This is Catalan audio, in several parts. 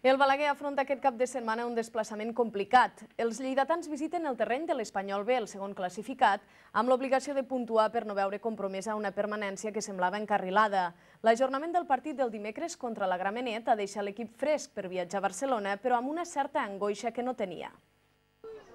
El Balaguer afronta aquest cap de setmana un desplaçament complicat. Els lleidatans visiten el terreny de l'Espanyol B, el segon classificat, amb l'obligació de puntuar per no veure compromesa una permanència que semblava encarrilada. L'ajornament del partit del dimecres contra la Gramenet ha deixat l'equip fresc per viatjar a Barcelona, però amb una certa angoixa que no tenia.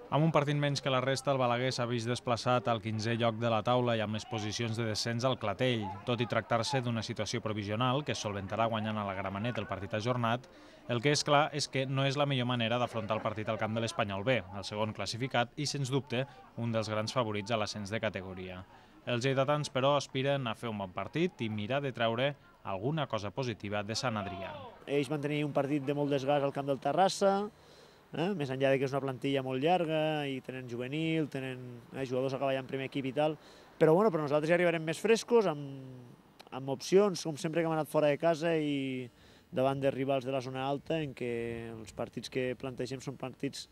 Amb un partit menys que la resta, el Balaguer s'ha vist desplaçat al 15è lloc de la taula i amb les posicions de descens al clatell. Tot i tractar-se d'una situació provisional que es solventarà guanyant a la Gramenet el partit ajornat, el que és clar és que no és la millor manera d'afrontar el partit al camp de l'Espanyol B, el segon classificat i, sens dubte, un dels grans favorits a l'ascens de categoria. Els lleidatans, però, aspiren a fer un bon partit i mirar de treure alguna cosa positiva de Sant Adrià. Ells van tenir un partit de molt desgast al camp del Terrassa, més enllà que és una plantilla molt llarga i tenen juvenil, tenen jugadors a cavallar en primer equip i tal, però nosaltres ja arribarem més frescos, amb opcions, com sempre que hem anat fora de casa i davant de rivals de la zona alta, en què els partits que plantegem són partits,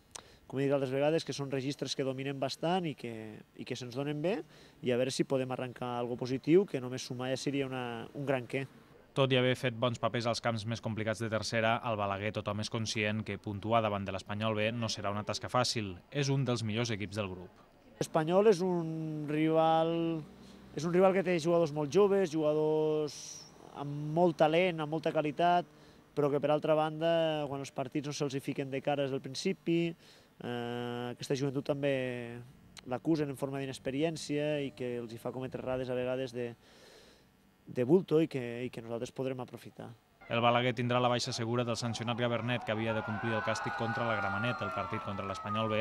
com he dit altres vegades, que són registres que dominen bastant i que se'ns donen bé, i a veure si podem arrencar alguna cosa positiu, que només sumar ja seria un gran què. Tot i haver fet bons papers als camps més complicats de tercera, al Balaguer tothom és conscient que puntuar davant de l'Espanyol B no serà una tasca fàcil. És un dels millors equips del grup. L'Espanyol és un rival que té jugadors molt joves, jugadors amb molt talent, amb molta qualitat, però que per altra banda, quan els partits no se'ls fiquen de cara des del principi, aquesta joventut també l'acusen en forma d'inexperiència i que els fa cometre errades a vegades de bulto i que nosaltres podrem aprofitar. El Balaguer tindrà la baixa segura del sancionat Gabernet, que havia de complir el càstig contra la Gramenet. El partit contra l'Espanyol B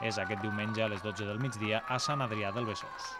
és aquest diumenge a les 12 del migdia a Sant Adrià del Besòs.